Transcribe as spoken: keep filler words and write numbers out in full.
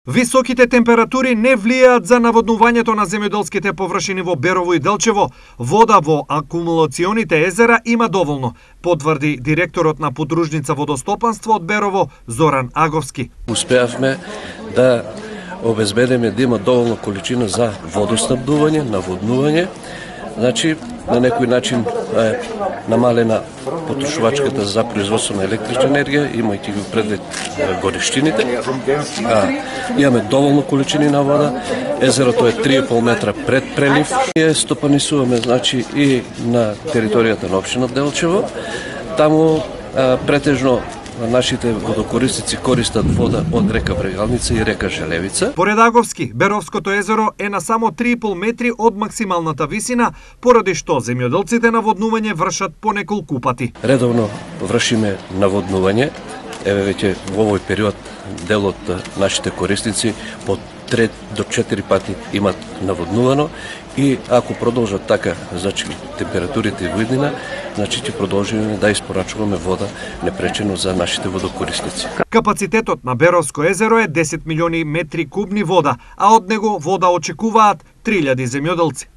Високите температури не влијаат за наводнувањето на земјоделските површини во Берово и Делчево. Вода во акумулационите езера има доволно, потврди директорот на подружница водостопанство од Берово Зоран Аговски. Успеавме да обезбедиме да има доволно количина за водоснабдување, наводнување. Значи, на некој начин е намалена потрошувачката за производство на електрична енергија, имајќи го предвид гориштините. А, имаме доволно количини на вода. Езерото е три и пол метра пред прелив. Ние стопанисуваме, значи, и на територијата на општина Делчево. Таму а, претежно нашите водокорисници користат вода од река Брегалница и река Желевица. Поред Аговски, Беровското езеро е на само три и пол метри од максималната висина, поради што земјоделците наводнување вршат по неколку пати. Редовно вршиме наводнување. Еве веќе во овој период дел од нашите корисници по три до четири пати имат наводнувано и ако продолжат така, значи температурите во иднина, значи ќе продолжиме да испорачуваме вода непречено за нашите водокорисници. Капацитетот на Беровско езеро е десет милиони метри кубни вода, а од него вода очекуваат три илјади земјоделци.